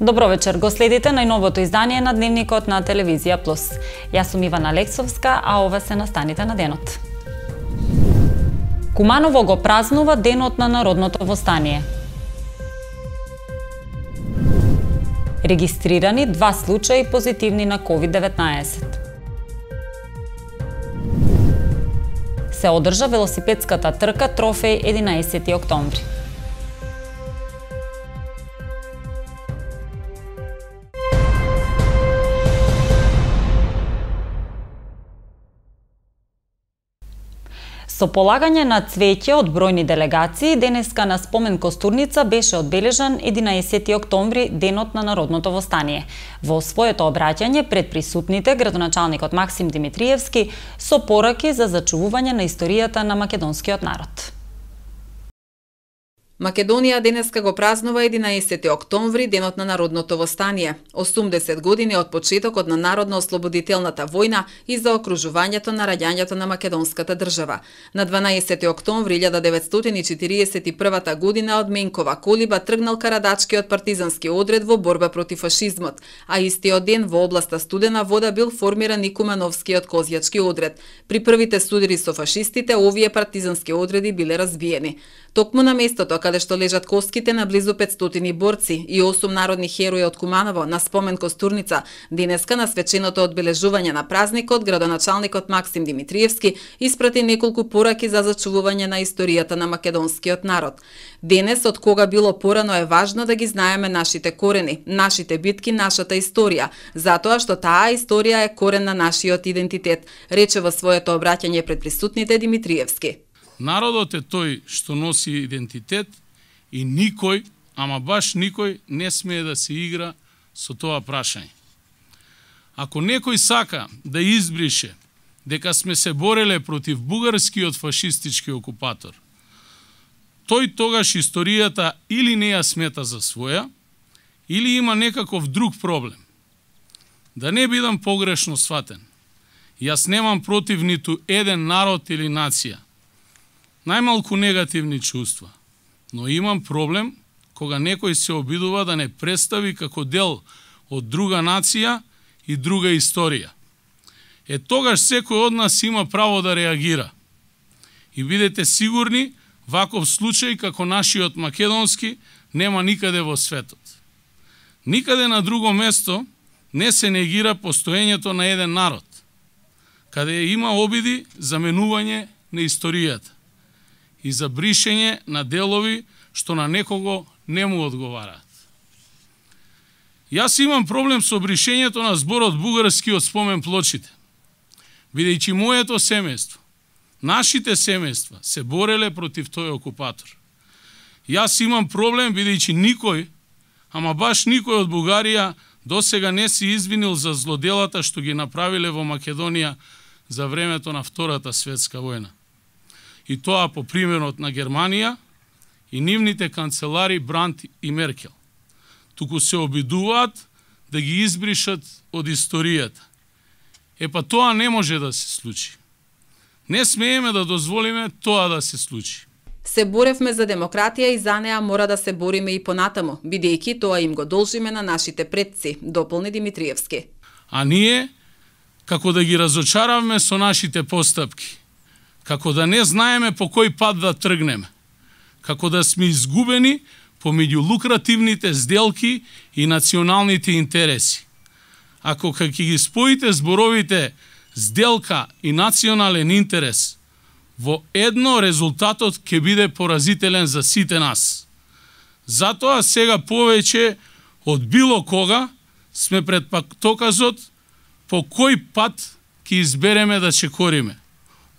Добро вечер, го следите најновото издание на Дневникот на Телевизија Плюс. Јас сум Ивана Алексовска, а ова се настаните на денот. Куманово го празнува Денот на народното востание. Регистрирани 2 случаи позитивни на COVID-19. Се одржа велосипедската трка Трофеј 11 октомври. Со полагање на цвеќе од бројни делегации, денеска на Спомен Костурница беше одбележан 11 октомври, Денот на народното востание. Во своето обраќање пред присутните, градоначалникот Максим Димитриевски со пораки за зачувување на историјата на македонскиот народ. Македонија денеска го празнува 11 октомври, Денот на народното востание. 80 години од почетокот на народно-ослободителната војна и за окружувањето на раѓањето на македонската држава. На 12 октомври 1941 година од Менкова колиба тргнал карадачкиот партизански одред во борба против фашизмот, а истиот ден во областа Студена Вода бил формиран и Кумановскиот козјачки одред. При првите судири со фашистите, овие партизански одреди биле разбиени. Токму на местото каде што лежат коските на близу 500 борци и 8 народни херои од Куманово на Спомен Костурница, денеска на свеченото одбележување на празникот, градоначалникот Максим Димитриевски испрати неколку пораки за зачувување на историјата на македонскиот народ. Денес, од кога било порано, е важно да ги знаеме нашите корени, нашите битки, нашата историја, затоа што таа историја е корен на нашиот идентитет, рече во своето обраќање пред присутните Димитриевски. Народот е тој што носи идентитет и никој, ама баш никој, не смее да се игра со тоа прашање. Ако некој сака да избрише дека сме се бореле против бугарскиот фашистички окупатор, тој тогаш историјата или не ја смета за своја, или има некаков друг проблем. Да не бидам погрешно сватен, јас немам против ниту еден народ или нација, најмалку негативни чувства, но имам проблем кога некој се обидува да не представи како дел од друга нација и друга историја. Тогаш секој од нас има право да реагира. И бидете сигурни, ваков случај како нашиот македонски нема никаде во светот. Никаде на друго место не се негира постоењето на еден народ, каде има обиди за менување на историјата и за бришење на делови што на некого не му одговараат. Јас имам проблем со бришењето на зборот бугарски од спомен плочите, бидејќи моето семејство, нашите семејства се бореле против тој окупатор. Јас имам проблем бидејќи никој, ама баш никој од Бугарија досега не се извинил за злоделата што ги направиле во Македонија за времето на Втората светска војна. И тоа по примерот на Германија и нивните канцелари Брандт и Меркел. Туку се обидуваат да ги избришат од историјата. Тоа не може да се случи. Не смееме да дозволиме тоа да се случи. Се боревме за демократија и за неа мора да се бориме и понатаму, бидејќи тоа им го должиме на нашите предци, дополни Димитриевски. А ние, како да ги разочаравме со нашите постапки, како да не знаеме по кој пат да тргнеме, како да сме изгубени помеѓу лукративните сделки и националните интереси. Ако ќе ги споите зборовите сделка и национален интерес во едно, резултатот ќе биде поразителен за сите нас. Затоа сега повеќе од било кога сме пред патоказот по кој пат ќе избереме да чекориме.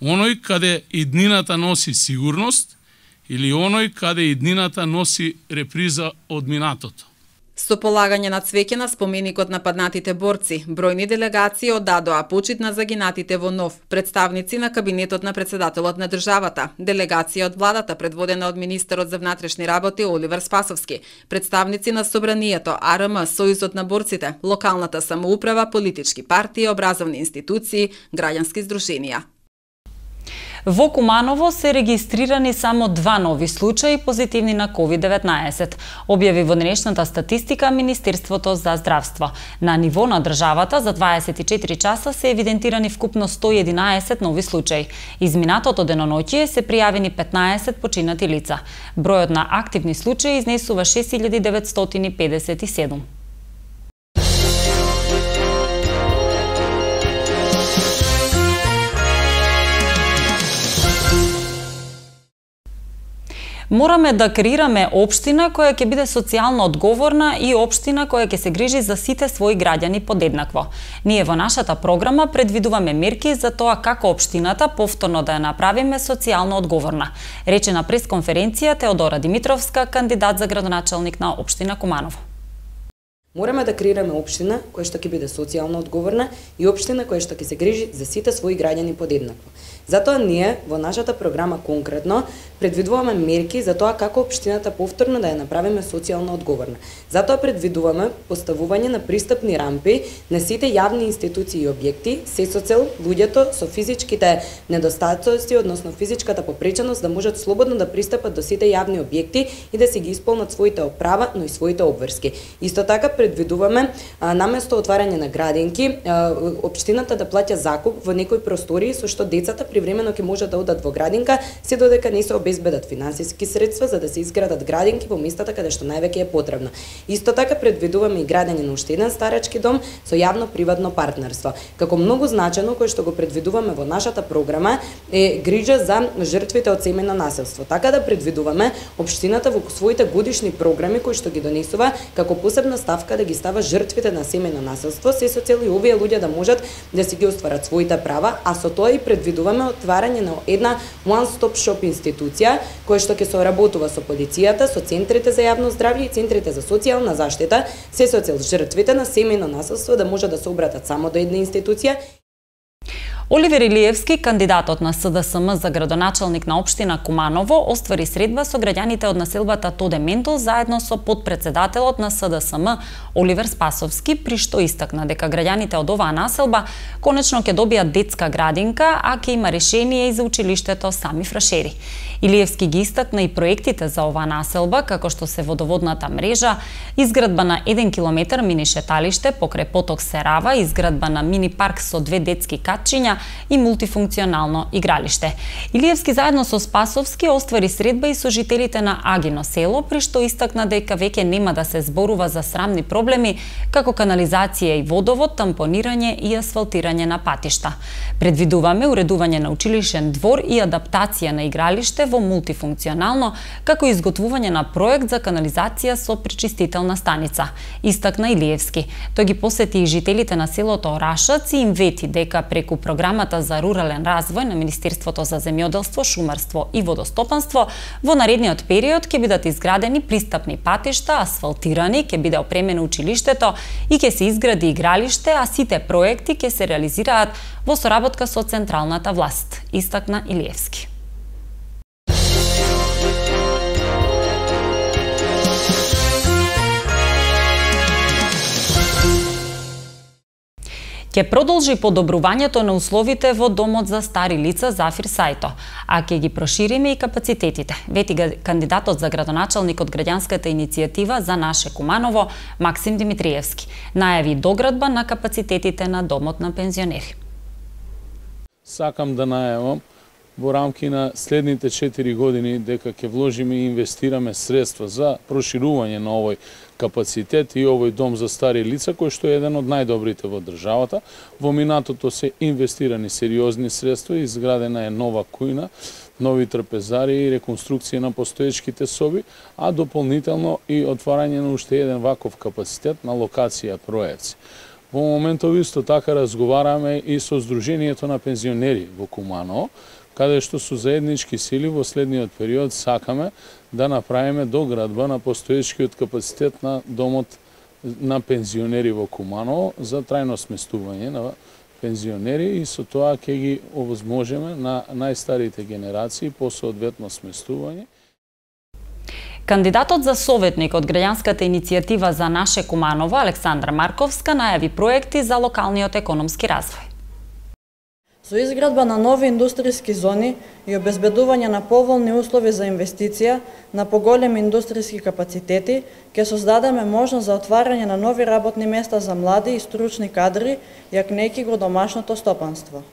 Оној каде иднината носи сигурност или оној каде иднината носи реприза од минатото. Со полагање на цвеќе на споменикот на паднатите борци, бројни делегации оддадоа почит на загинатите во Нов, представници на кабинетот на председателот на државата, делегација од владата предводена од министерот за внатрешни работи Оливер Спасовски, представници на Собранието, АРМ, Сојузот на борците, локалната самоуправа, политички партии, образовни институции, граѓански здруженија. Во Куманово се регистрирани само 2 нови случаи позитивни на COVID-19, објави во денешната статистика Министерството за здравство. На ниво на државата за 24 часа се евидентирани вкупно 111 нови случаи. Изминатото деноноќие се пријавени 15 починати лица. Бројот на активни случаи изнесува 6957. Мораме да креираме општина која ќе биде социјално одговорна и општина која ќе се грижи за сите своји граѓани подеднакво. Ние во нашата програма предвидуваме мерки за тоа како општината повторно да ја направиме социјално одговорна, рече на пресконференција Теодора Димитровска, кандидат за градоначалник на општина Куманово. Мораме да креираме општина која што ќе биде социјално одговорна и општина која што ќе се грижи за сите своји граѓани подеднакво. Затоа ние во нашата програма конкретно предвидуваме мерки за тоа како општината повторно да ја направиме социјално одговорна. Затоа предвидуваме поставување на пристапни рампи на сите јавни институции и објекти, се со цел луѓето со физичките недостатоци, односно физичката попреченост да можат слободно да пристапат до сите јавни објекти и да си ги исполнат своите права, но и своите обврски. Исто така предвидуваме наместо отварање на градинки, општината да плаќа закуп во некои простории со што децата привремено ќе можат да одат во градинка, се додека не се обезбедат финансиски средства за да се изградат градинки во местата каде што највеќе е потребно. Исто така предвидуваме и градење на уште еден старачки дом со јавно-приватно партнерство. Како многу значено кој што го предвидуваме во нашата програма е грижа за жртвите од семејно насилство. Така да предвидуваме општината во своите годишни програми кои што ги донесува како посебна ставка да ги става жртвите на семејно насилство, се со цел и овие луѓе да можат да си ги остварат своите права, а со тоа и предвидуваме отварање на една one-stop shop институција која што ќе соработува со полицијата, со центрите за јавно здравје и центрите за социјална заштита, се со цел жртвите на семејно насилство да може да се обратат само до една институција. Оливер Илиевски, кандидатот на СДСМ за градоначалник на општина Куманово, оствари средба со граѓаните од населбата Тоде Ментол заедно со подпредседателот на СДСМ Оливер Спасовски, при што истакна дека граѓаните од оваа населба конечно ќе добијат детска градинка, а ќе има решение и за училиштето Сами Фрашери. Илиевски ги истакна и проектите за оваа населба, како што се водоводната мрежа, изградба на 1 километар мини шеталиште покрај поток Серава, изградба на мини парк со 2 детски катчиња и мултифункционално игралиште. Илиевски заедно со Спасовски оствари средба и со жителите на Агино село, при што истакна дека веќе нема да се зборува за срамни проблеми како канализација и водовод, тампонирање и асфалтирање на патишта. Предвидуваме уредување на училишен двор и адаптација на игралиште во мултифункционално, како и изготвување на проект за канализација со пречистителна станица. Истакна Илиевски. Тој ги посети и жителите на селото Орашац и им вети дека преку програмата за рурален развој на Министерството за земјоделство, шумарство и водостопанство во наредниот период ќе бидат изградени пристапни патишта, асфалтирани, ќе биде опремено училиштето и ќе се изгради игралиште, а сите проекти ќе се реализираат во соработка со централната власт, истакна Илиевски. Ќе продолжи подобрувањето на условите во домот за стари лица Зафир Сајто, а ќе ги прошириме и капацитетите, вети кандидатот за градоначалник од граѓанската иницијатива за наше Куманово Максим Димитриевски. Најави доградба на капацитетите на домот на пензионери. Сакам да најавам во рамки на следните 4 години дека ќе вложиме и инвестираме средства за проширување на овој капацитет и овој дом за стари лица, кој што е еден од најдобрите во државата. Во минатото се инвестирани сериозни средства, изградена е нова кујна, нови трапезари и реконструкција на постоечките соби, а дополнително и отварање на уште еден ваков капацитет на локација Проевци. Во моментов исто така разговараме и со Сдруженијето на пензионери во Куманово, каде што со заеднички сили во следниот период сакаме да направиме доградба на постоечкиот капацитет на домот на пензионери во Куманово за трајно сместување на пензионери и со тоа ќе ги овозможиме на најстарите генерации по соодветно сместување. Кандидатот за советник од граѓанската иницијатива за наше Куманово Александра Марковска најави проекти за локалниот економски развој. Со изградба на нови индустријски зони и обезбедување на поволни услови за инвестиција на поголеми индустријски капацитети, ќе создадеме можност за отварање на нови работни места за млади и стручни кадри, јакнејќи го домашното стопанство.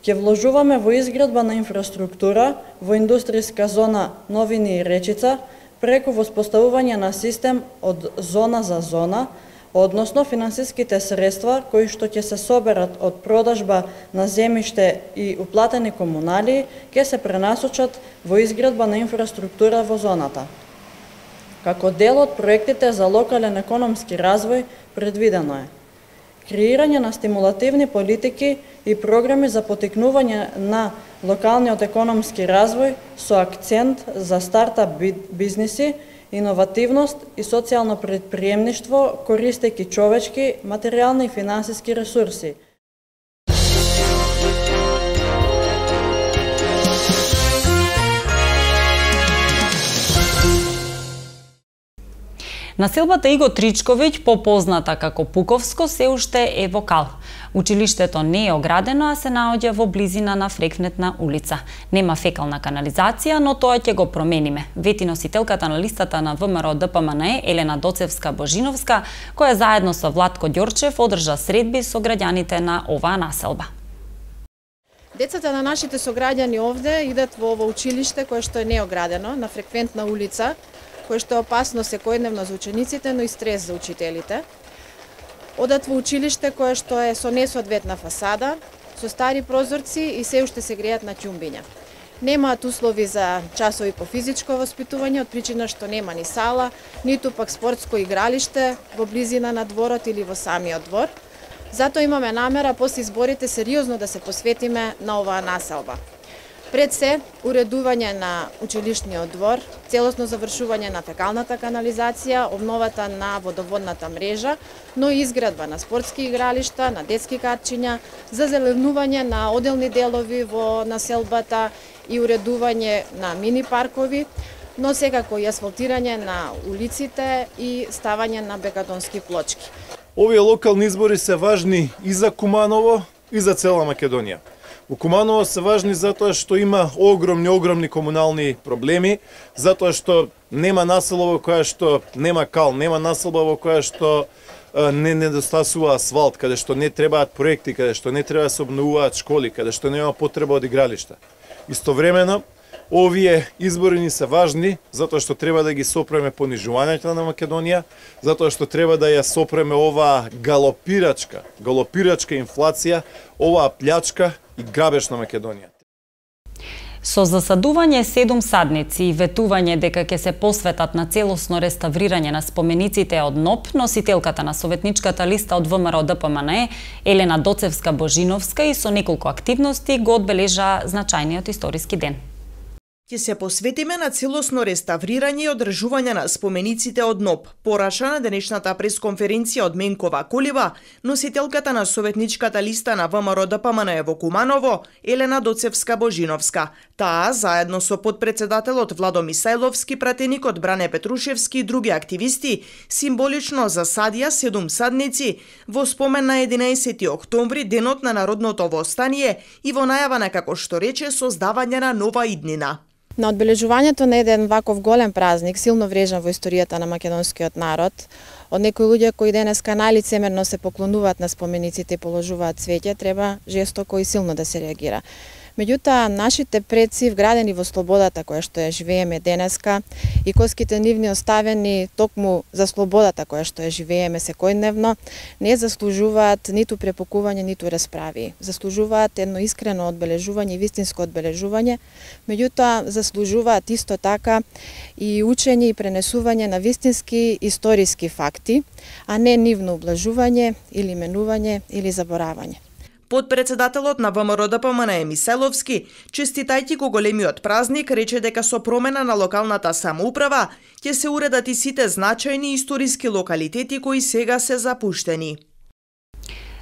Ќе вложуваме во изградба на инфраструктура, во индустријска зона Новини и Речица, преку воспоставување на систем од зона за зона, односно финансиските средства кои што ќе се соберат од продажба на земјиште и уплатени комунали ќе се пренасочат во изградба на инфраструктура во зоната. Како дел од проектите за локален економски развој предвидено е креирање на стимулативни политики и програми за поттикнување на локалниот економски развој со акцент за стартап бизниси, иновативност и социјално предприемништво, користејќи човечки, материјални и финансиски ресурси. Населбата Иго Тричковиќ, попозната како Пуковско, се уште е во кал. Училиштето не е оградено, а се наоѓа во близина на Фрекнетна улица. Нема фекална канализација, но тоа ќе го промениме, вети носителката на листата на ВМРО ДПМНЕ Елена Доцевска-Божиновска, која заедно со Владко Ѓорчев одржа средби со граѓаните на оваа населба. Децата на нашите сограѓани овде идат во ова училиште кое што е неоградено на Фреквентна улица, кое што е опасно секојдневно за учениците, но и стрес за учителите. Одат во училиште кое што е со несоодветна фасада, со стари прозорци и се уште се греат на ќумбиња. Немаат услови за часови по физичко воспитување, од причина што нема ни сала, ниту пак спортско игралиште во близина на дворот или во самиот двор. Затоа имаме намера после изборите сериозно да се посветиме на оваа населба. Пред се, уредување на училишниот двор, целосно завршување на фекалната канализација, обновата на водоводната мрежа, но и изградба на спортски игралишта, на детски катчиња, зазеленување на оделни делови во населбата и уредување на мини паркови, но секако и асфалтирање на улиците и ставање на бекатонски плочки. Овие локални избори се важни и за Куманово, и за цела Македонија. Во Куманово се важни затоа што има огромни комунални проблеми, затоа што нема населба во која што нема кал, нема населба во која што не недостасува асфалт, каде што не требаат проекти, каде што не треба да се обновуваат школи, каде што нема потреба од игралишта. Истовремено, овие избори ни се важни затоа што треба да ги сопреме понижувањето на Македонија, затоа што треба да ја сопреме оваа галопирачка инфлација, оваа плячка и грабеж на Македонија. Со засадување 7 садници и ветување дека ќе се посветат на целосно реставрирање на спомениците од НОП, носителката на советничката листа од ВМРО ДПМНЕ Елена Доцевска-Божиновска и со неколку активности го одбележа значајниот историски ден. Ќе се посветиме на целосно реставрирање и одржување на спомениците од НОП, пораша на денешната пресконференција од Менкова Колева, носителката на советничката листа на ВМРО ДПМНЕ во Куманово, Елена Доцевска-Божиновска. Таа, заедно со подпредседателот Владо Мисајловски, пратеникот Бране Петрушевски и други активисти, символично засадија 7 садници во спомен на 11 октомври, денот на народното востание и во најава на, како што рече, создавање на нова иднина. На одбележувањето на еден ваков голем празник, силно врежан во историјата на македонскиот народ, од некои луѓе кои денеска најлицемерно се поклонуваат на спомениците и положуваат цвеќе, треба жестоко и силно да се реагира. Меѓутоа, нашите предци, вградени во слободата која што ја живееме денеска и коските нивни оставени токму за слободата која што ја живееме секојдневно, не заслужуваат ниту препокување, ниту расправи. Заслужуваат едно искрено одбележување и вистинско одбележување, меѓутоа заслужуваат исто така и учење и пренесување на вистински историски факти, а не нивно ублажување или менување или заборавање. Подпредседателот на ВМРО ДПМНЕ Мисајловски, честитајќи го големиот празник, рече дека со промена на локалната самоуправа ќе се уредат и сите значајни историски локалитети кои сега се запуштени.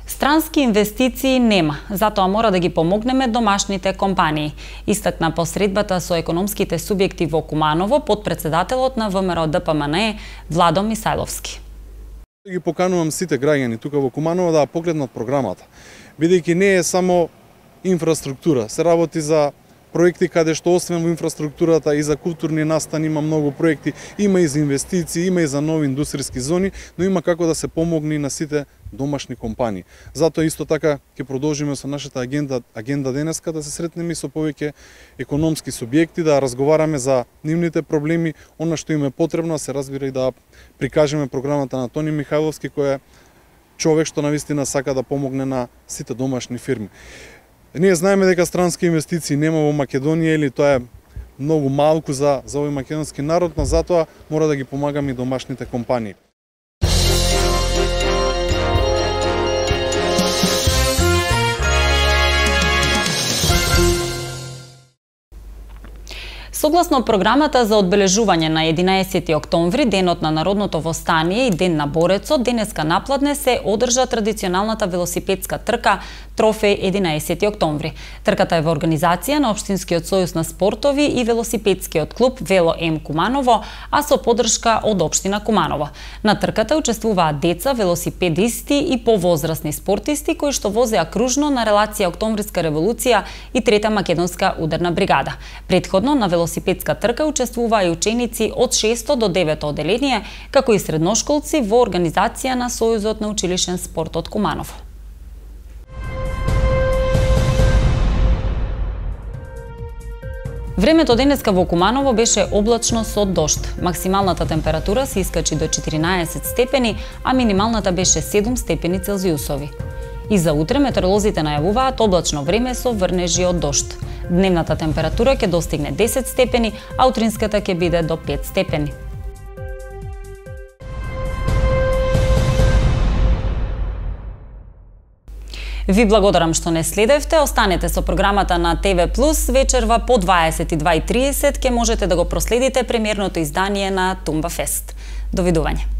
Странски инвестиции нема, затоа мора да ги помогнеме домашните компании, истакна посредбата со економските субјекти во Куманово подпредседателот на ВМРО ДПМНЕ Владо Мисајловски. Ги поканувам сите граѓани тука во Куманово да погледнат програмата, бидејќи не е само инфраструктура. Се работи за проекти каде што освен во инфраструктурата и за културни настани има многу проекти, има и за инвестиции, има и за нови индустријски зони, но има како да се помогне на сите домашни компании. Затоа исто така ќе продолжиме со нашата агенда денеска да се сретнеме со повеќе економски субјекти, да разговараме за нивните проблеми, она што им е потребно, се разбира и да прикажеме програмата на Тони Михајловски, кој е човек што навистина сака да помогне на сите домашни фирми. Ние знаеме дека странски инвестиции нема во Македонија или тоа е многу малку за овој македонски народ, но затоа мора да ги помагаме и домашните компании. Согласно програмата за одбележување на 11 октомври, денот на народното востание и ден на борецот, денеска напладне се одржа традиционалната велосипедска трка Трофеј 11 октомври. Трката е во организација на Општинскиот сојуз на спортови и велосипедскиот клуб Вело М Куманово, а со поддршка од општина Куманово. На трката учествуваат деца, велосипедисти и повозрасни спортисти кои што возеа кружно на релација Октомвриска револуција и Трета македонска ударна бригада. Претходно на велосипедска трка учествуваа и ученици од 6 до 9 одделение, како и средношколци во организација на Сојузот на училишен спорт од Куманово. Времето денеска во Куманово беше облачно со дожд. Максималната температура се искачи до 14 степени, а минималната беше 7 степени Целзиусови. И за утре метеоролозите најавуваат облачно време со врнежи од дожд. Дневната температура ќе достигне 10 степени, а утринската ќе биде до 5 степени. Ви благодарам што не следевте. Останете со програмата на ТВ Плюс. Вечерва по 22:30 ќе можете да го проследите премиерното издание на Тумба Фест. Довидување.